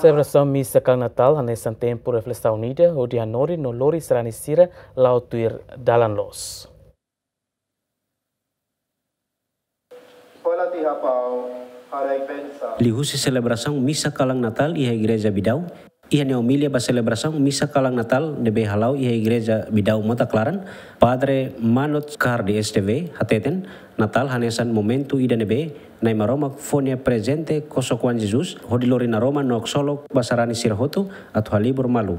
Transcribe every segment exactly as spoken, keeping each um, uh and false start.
Selebrasaun Misa Kalan Natal hanesan tempu reflesaun ida hodi hanorin no lori sarani sira la'o tuir dalan loos. Liuhusi selebrasaun Misa Kalan Natal iha Igreja Bidau, iha nia omilia ba selebrasaun Misa Kalan Natal ne'ebé hala'o iha Igreja Bidau Mota Klaran, Padre Manot Kardi S T V hateten, Natal hanesan momentu ida ne'ebé Na'i Maromak fó nia prezente kosok-oan Jesus hodi lori naroman no haksolok ba sarani sira hotu atu halibur malu,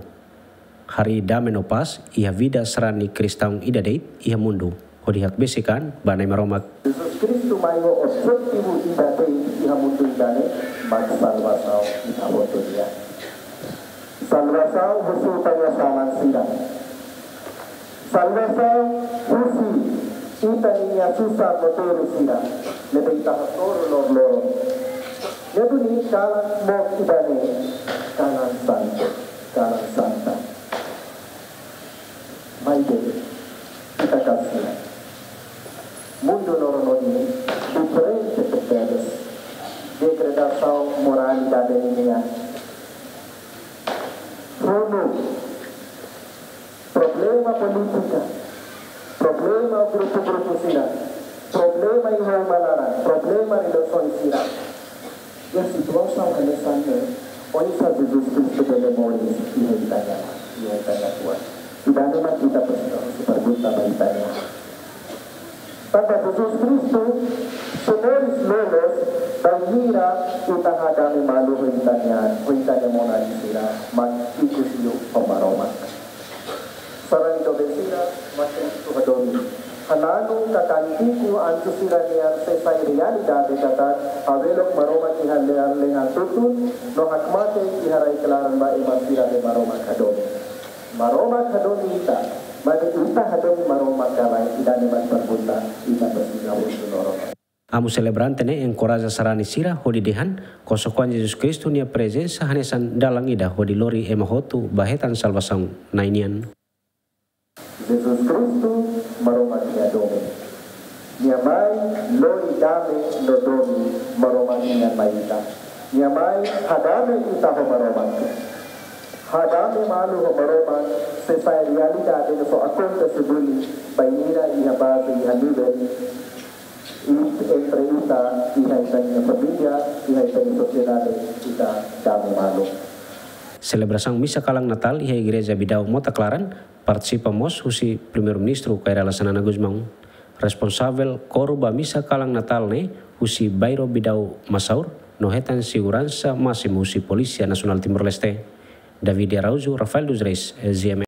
harii dame no pás iha vida sarani kristaun ida de'it iha mundu, hodi hakbesik an ba Na'i Maromak. Jesus Kristu mai ho objetivu ida de'it iha mundu ida-ne'e, mak salvasaun ita hotu nian. Salvasaun husi ita-nia saman sira. Salvasaun husi ita-nia susar no dór sira ne'ebé ita hasoru loroloron. Ne'e duni kalan mook ida-ne'e, kalan santu, kalan santa. Maibé, ita kasihan. Mundu no rona ne'e diferente tebes. Degradasaun moralidade nian. Ronu, problema polítika, problema grupu-grupu sira, problema iha uma laran, problema relasaun sira. Iha situasaun hanesan ne'e, oinsá Jesus Kristu bele moris iha ita-nia, iha ita-nia fuan? Ida-ne'e mak ita presiza husu pergunta ba ita-nia. Tanba Jesus Kristu sei moris loloos bainhira ita hadame malu ho ita-nia, ho ita-nia monain sira, mak ikus liu ho Maromak. Sarani doben sira mak tenke hadomi. Hananu ka kantiku anju sira-nian sei sai realidade katak, hawelook Maromak iha lea-, lehan tutun, no hakmatek iha rai klaran ba ema sira be Maromak hadomi. Maromak hadomi ita, maibé ita hadomi Maromak ka lae, ida-ne'e mak pergunta ita presiza husu loron. Amu selebrante ne'e enkoraja sarani sira hodi dehan, kosok-oan Jesus Kristu nia prezensa hanesan dalan ida hodi lori ema hotu ba hetan salvasaun Na'i nian. Jesus Kristu, Maromak nia doben. Nia mai lori dame no domin Maromak nian mai ita. Nia mai hadame ita ho Maromak. Hadame malu ho Maromak sei sai realidade no só akontese duni bainhira iha baze, iha nivel, i entre ita, iha ita-nia família, iha ita-nia sosiedade, ita dame malu. Selebrasaun Misa Kalan Natal iha Igreja Bidau Mota Klaran partisipa mós husi Primeiru-Ministru Kay Rala Xanana Gusmão. Responsavel koru ba Misa Kalan Natal ne'e husi Bairru Bidau Masaur, no hetan seguransa másimu husi Polísia Nasionál Timor-Leste. David Araújo, Rafael dos Reis, Z M N.